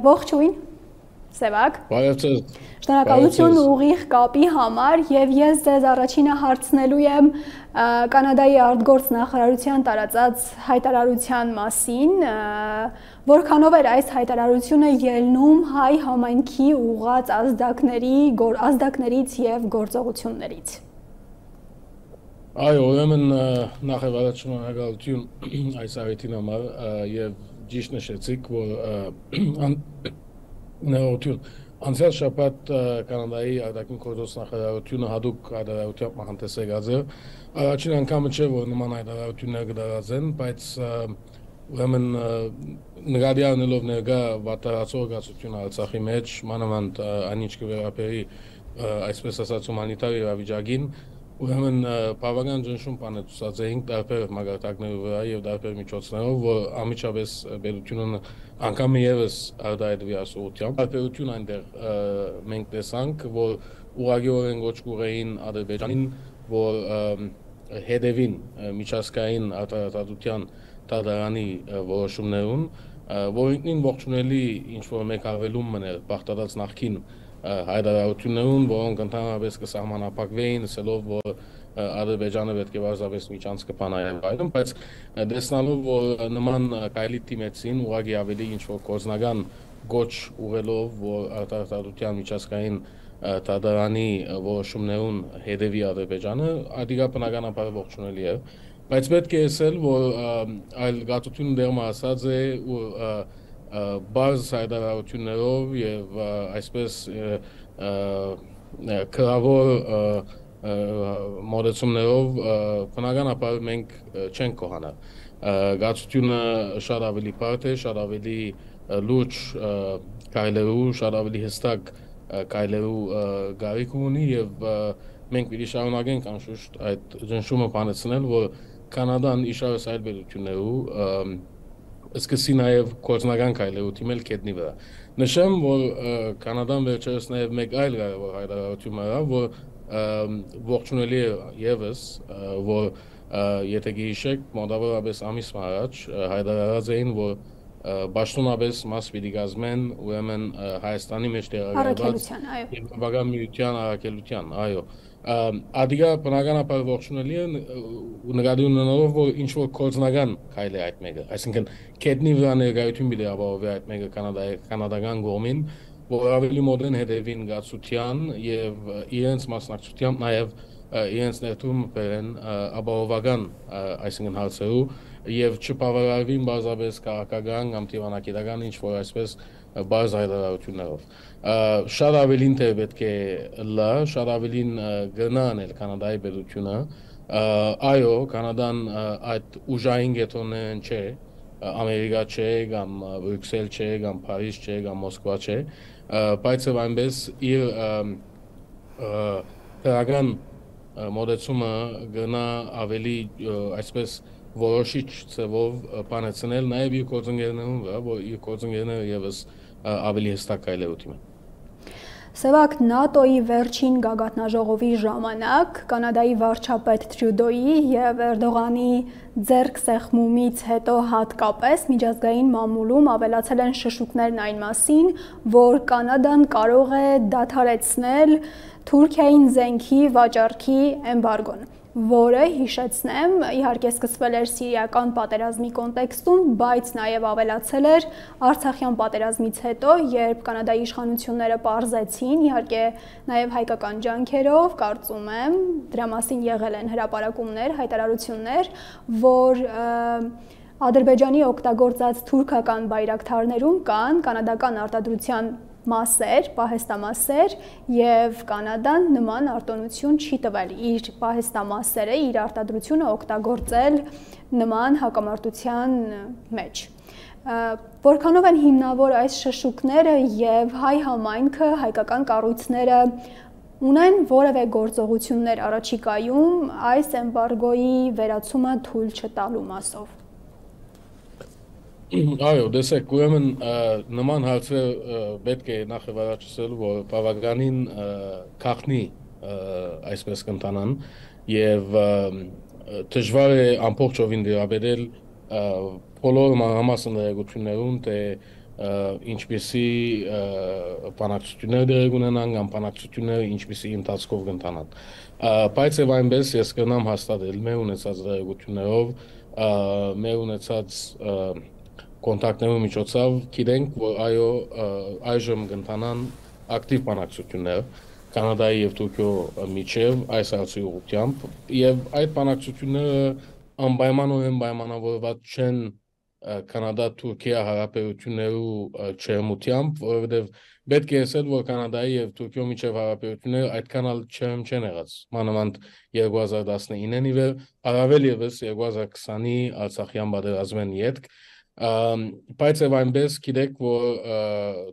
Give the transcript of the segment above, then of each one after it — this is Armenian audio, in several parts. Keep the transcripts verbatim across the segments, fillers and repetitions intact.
Ողջույն, Սևակ։ Բարև։ Շնորհակալություն ուղիղ կապի համար եւ ես ձեզ առաջինը հարցնելու եմ Կանադայի արտգործ նախարարության տարածած հայտարարության մասին, որքանով էր այս հայտարարությունը ելնում հայ համայնքի ուղղած ազդակների, ազդակներից եւ գործողություններից։ Այո, ուրեմն նախ եւ առաջ շնորհակալություն այս առիթին համար եւ ճիշտ նշեցիք, որ նորություն անցյալ շաբաթ Կանադայի արտաքին գործոս նախարարությունը հատուկ հայտարարությամբ մահանտեսել է։ Առաջին անգամը չէ, որ նման հայտարարություններ կդարածեն, բայց ուրեմն նկատի առնելով ներկա վատթարացող զգացությունը Արցախի մեջ, մանավանդ այնինչ կվերաբերի այսպես ասած հումանիտար իրավիճակին, ուրեմն բավական ճնշում բաներ ցուցածեինք տարբեր մագարտակների վրա եւ տարբեր միջոցներով, որ ամիջապես պետությունը անգամ եւս արտահայտվի ասուլտիան։ Տարբերություն այնտեղ մենք տեսանք, որ ուղղակիորեն ոչ կուրեին Ադրբեջանին, որ հետևին միջազգային արտադրության դատարանի որոշումներուն, որ ինքնին ողջունելի ինչ-որ մեկ ավելում մներ բախտած նախքին հայտարարություններուն, որոնք ընդհանրապես կսահմանափակվեին, ասելով, որ Ադրբեջանը պետք է բարձրապես միջանցք կփանայեն այլն, բայց տեսնալով, որ նման կայլի դիմեցին, ուղղակի ավելի ինչ-որ գործնական գոչ ուղղելով, որ արտադրության միջազգային դատարանի որոշումներուն հետևի Ադրբեջանը, ադիգա բնականաբար ողջունելի է, բայց պետք է ասել, որ այլ գաղթությունը դերմա ասած է ու բարձ հայտարարություններով եւ այսպես քրավոր մոդեցումներով բնականաբար մենք չենք կողանա։ Գաղթությունը շատ ավելի բարդ է, շատ ավելի լուրջ կայլերու, շատ ավելի հստակ կայլերու գարիք ունի եւ մենք պիտի շարունակենք անշուշտ այդ ճնշումը բանեցնել, որ Կանադան իշարս այլ պետություններու սկսի նաև գործնական կայլերու թիմել կետնի վրա։ Նշեմ, որ Կանադան վերջերս նաև մեկ այլ կարևոր հայտարարություն արավ, որ ողջունելի է ևս, որ եթե գիշեք մոտավորապես ամիս առաջ հայտարարած էին, որ պաշտոնապես մաս պիտի կազմեն ուրեմն Հայաստանի մեջ տեղակայված Եվրոպական միության առաքելության, այո։ Ադիգա բնականաբար ողջունելի է ու նկատի ունենալով, որ ինչ-որ գործնական քայլ է այդ մեկը, այսինքն կետնի վրա ներկայություն պիտի ապահովի այդ մեկը կանադական կողմին, որ ավելի մոդեն հետևին գացության եւ իրենց մասնակցությամբ նաեւ իրենց ներդրում բերեն ապահովական այսինքն հարցերու եւ չբավարարվին բազապես քաղաքական կամ դիվանագիտական ինչ-որ այսպես բարձ հայտարարություններով։ Շատ ավելին թե պետք է լա, շատ ավելին գնան էլ Կանադայի պետությունը, այո, Կանադան այդ ուժային գետոններն չէ, Ամերիկա չէ, կամ Բրյուսել չէ, կամ Փարիզ չէ, կամ Մոսկվա չէ, բայց եւ այնպես իր դրական մոդեցումը գնա ավելի այսպես որոշիչ ծավով բանեցնել նաև իր գործընկերներուն վրա, որ իր գործընկերները եւս ավելի հստակ կայլերու թիմեն։ Սևակ ՆԱՏՕ-ի վերջին գագաթնաժողովի ժամանակ Կանադայի վարչապետ Տրյուդոյի եւ Էրդողանի ձեռք սեղմումից հետո հատկապես միջազգային մամուլում ավելացել են շշուկներն այն մասին, որ Կանադան կարող է դադարեցնել Թուրքիային զենքի վաճառքի էմբարգոն, որը հիշեցնեմ, իհարկե սկսվել էր սիրիական պատերազմի կոնտեքստում, բայց նաև ավելացել էր Արցախյան պատերազմից հետո, երբ Կանադայի իշխանությունները պարզեցին, իհարկե նաև հայկական ջանքերով, կարծում եմ, դրա մասին եղել են հրապարակումներ, հայտարարություններ, որ Ադրբեջանի օգտագործած թուրքական բայրակթարներում կան կանադական արտադրության մասեր, պահեստամասեր եւ Կանադան նման արտոնություն չի տվել իր պահեստամասերը, իր արտադրությունը օգտագործել նման հակամարտության մեջ։ Որքանով են հիմնավոր այս շշուկները եւ հայ համայնքը, հայկական կառույցները ունեն որևէ գործողություններ առաջիկայում այս էմբարգոյի վերացումը թույլ չտալու մասով։ Այո, դեսեք, ուրեմն նման հարցեր պետք է նախ եւ առաջ ասել, որ բավականին քաղտնի այսպես կընթանան եւ դժվար է ամբողջովին դիաբետել բոլոր մանրամասն ներգություններուն թե ինչպիսի բանակցություններ դեր ունենան կամ բանակցությունները ինչպիսի ընթացքով կընթանան։ Բայց եւ այնպես ես կնամ հաստատել մեր ունեցած դերություններով, մեր ունեցած կոնտակտների միջոցով գիտենք, որ այո, այժմ կընթանան ակտիվ բանակցություններ Կանադայի եւ Թուրքիո միջև այս հարցի ուղղությամբ եւ այդ բանակցությունները անպայմանորեն պայմանավորված չեն Կանադա-Թուրքիա հարաբերություններու չերմությամբ, որովհետեւ պետք է ասել, որ Կանադայի եւ Թուրքիո միջև հարաբերությունները այդքան էլ չերմ չեն եղած։ Մանավանդ երկու հազար տասնինին ի վեր, առավել եւս երկու հազար քսանի Արցախյան պատերազմեն յետք, բայց եւ այնպես գիտեք, որ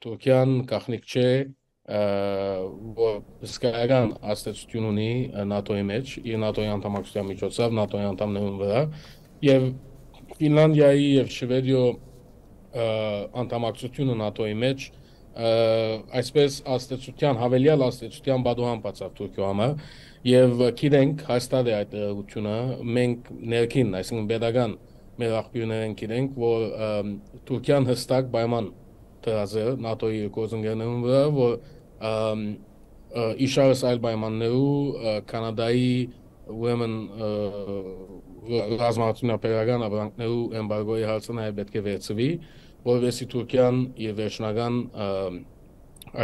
Թուրքիան գաղտնիք չէ, որ հսկայական ազդեցություն ունի ՆԱՏՕ-ի մեջ, իր ՆԱՏՕ-ի անդամակցության միջոցով, ՆԱՏՕ-ի անդամներուն վրա, եւ Ֆինլանդիայի եւ Շվեդիո անդամակցությունը ՆԱՏՕ-ի մեջ այսպես ազդեցության, հավելյալ ազդեցության բադուհան բացավ Թուրքիո համար, եւ գիտենք հաստատ է այդ դերությունը, մենք ներքին, այսինքն pedagogan մեր աղբյուրներեն գիտենք, որ Թուրքիան հստակ պայման դրած է ՆԱՏՕ-ի գործընկերներուն վրա, որ իշարս այլ պայմաններու Կանադայի ուրեմն ռազմավարությունապետական ապրանքներու էմբարգոյի հարցը նաև պետք է վերցվի, որովհետեւ Թուրքիան իր վերջնական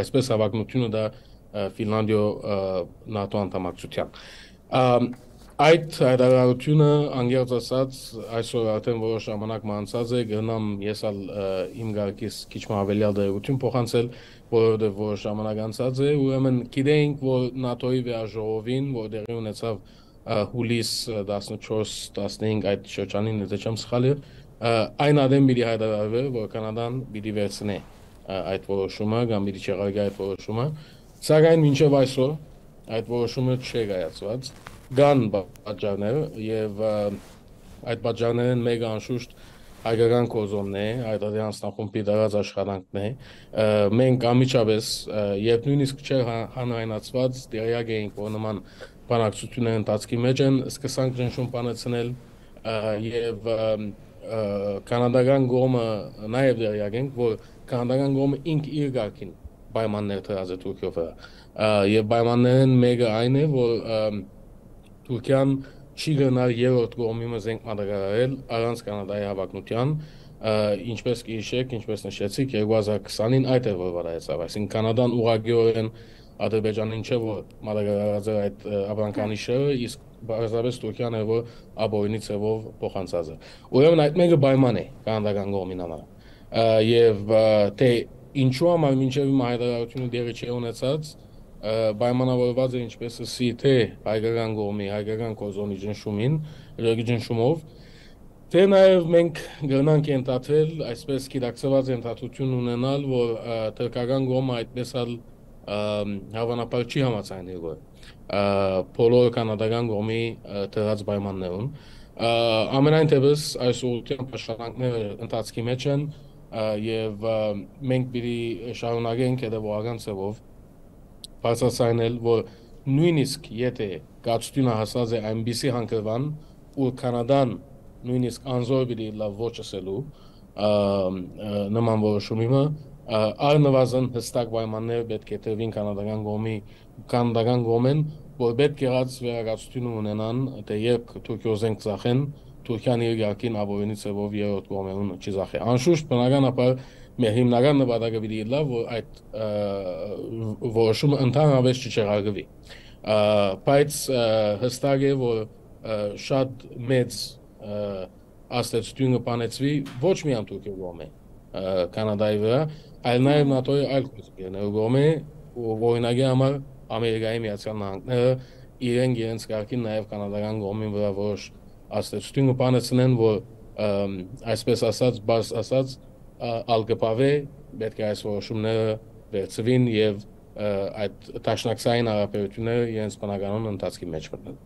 այսպես հավակնությունը դա Ֆինլանդիո ՆԱՏՕ անդամակցության։ Այդ հայտարարությունը անգերց ասած այսօր արդեն որոշ ժամանակ մանցած է, գնամ ես ալ իմ գարկիս քիչ հավելյալ դերություն փոխանցել, որովհետեւ որոշ ժամանակ անցած է, ուրեմն գիտենք, որ ՆԱՏՕ-ի վերաժողովին, որ դեղի ունեցավ հուլիս տասնչորս տասնհինգ այդ շրջանին, եթե չեմ սխալի, այն ադեմ պիտի հայտարարվի, որ Կանադան պիտի վերցնի այդ որոշումը, կամ պիտի չեղարկի այդ որոշումը, սակայն մինչև այսօր այդ որոշումը չի կայացված։ Կան պատճառներ եւ այդ պատճառներն մեկը անշուշտ հայկական կոզոմն է, այդ անձնախումբի դրած աշխատանքն է։ Մենք ամիջապես երբ նույնիսկ չէ հանրայնացված դերյակ էինք, որ նման բանակցությունների ընթացքի մեջ են, սկսանք ճնշում բանացնել եւ կանադական կողմը նաեւ դերյակ ենք, որ կանադական կողմը ինք իր գարկին պայմաններ դրած է Թուրքիո վրա եւ պայմաններն մեկը այն է, որ Թուրքիան չի գնալ երրորդ կողմի մզենք մատակարարել առանց Կանադայի հավակնության, ինչպես կհիշեք, ինչպես նշեցիք, երկու հազար քսանին այդ է որ վարայեցավ, այսինքն Կանադան ուղղակիորեն Ադրբեջանին չէ որ մատակարարած է այդ ապրանքանիշը, իսկ բարձրապես Թուրքիան է որ աբորինի ցևով փոխանցած է։ Ուրեմն այդ մեկը պայման է կանադական կողմին համար։ Եվ թե ինչու համար մինչև իմ հայտարարությունը դեռ չի ունեցած, պայմանավորված է ինչպես ասի թե հայկական կողմի, հայկական կոզոնի ճնշումին, իրոքի ճնշումով, թե նաև մենք գնանք ենթադրել, այսպես գիտակցված ենթադրություն ունենալ, որ թուրքական կողմը այդպես էլ հավանաբար չի համաձայնի որ բոլոր կանադական կողմի դրած պայմաններուն։ Ամենայն դեպս այս ուղղությամբ աշխատանքները ընթացքի մեջ են եւ մենք պիտի շարունակենք հետեւողական ձևով բարձրացնել, որ նույնիսկ եթե գացությունը հասած է այնպիսի հանգրվան, որ Կանադան նույնիսկ անզոր պիտի լավ ոչ ասելու նման որոշումը, առնվազն հստակ պայմաններ պետք է տրվին կանադական կողմի, կանադական կողմեն, որ պետք եղած վերակացություն ունենան, թե երբ Թուրքիո զենք ծախեն, Թուրքիան իր գարկին աբորինի ցևով երրորդ կողմերուն չի ծախի։ Անշուշտ բնականաբար մեր հիմնական նպատակը պիտի լավ, որ այդ որոշումը ընդհանրապես չչեղարկվի։ Բայց հստակ է, որ շատ մեծ ազդեցություն կբանեցվի ոչ միայն Թուրքիո կողմէ Կանադայի վրա, այլ նաև ՆԱՏՕ-ի այլ կողմերու կողմէ, օրինակի համար Ամերիկայի Միացյալ Նահանգները իրենք իրենց կարգին նաև կանադական կողմին վրա որոշ ազդեցություն կբանեցնեն, որ այսպես ասած, բաց ասած ալգպավե պետք է այս որոշումները վերցվին եւ այդ տաշնակցային հարաբերությունները իրենց բնականոն ընթացքի մեջ մտնեն։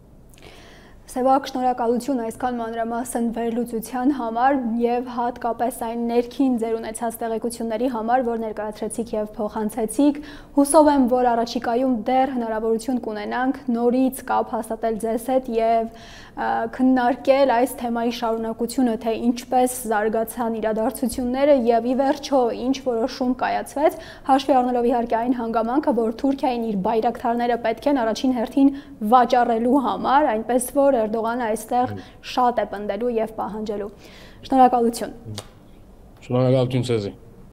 Սևակ, շնորհակալություն այսքան մանրամասն վերլուծության համար եւ հատկապես այն ներքին ձեր ունեցած տեղեկությունների համար, որ ներկայացրեցիք եւ փոխանցեցիք։ Հուսով եմ, որ առաջիկայում դեռ հնարավորություն կունենանք նորից կապ հաստատել ձեզ հետ եւ քննարկել այս թեմայի շարունակությունը, թե ինչպես զարգացան իրադարձությունները եւ ի վերջո ինչ որոշում կայացվեց, հաշվի առնելով իհարկե այն հանգամանքը, որ Թուրքիային իր բայրակթարները պետք են առաջին հերթին վաճառելու համար, այնպես որ Էրդողանը այստեղ շատ է պնդելու եւ պահանջելու։ Շնորհակալություն։ Շնորհակալություն ձեզ։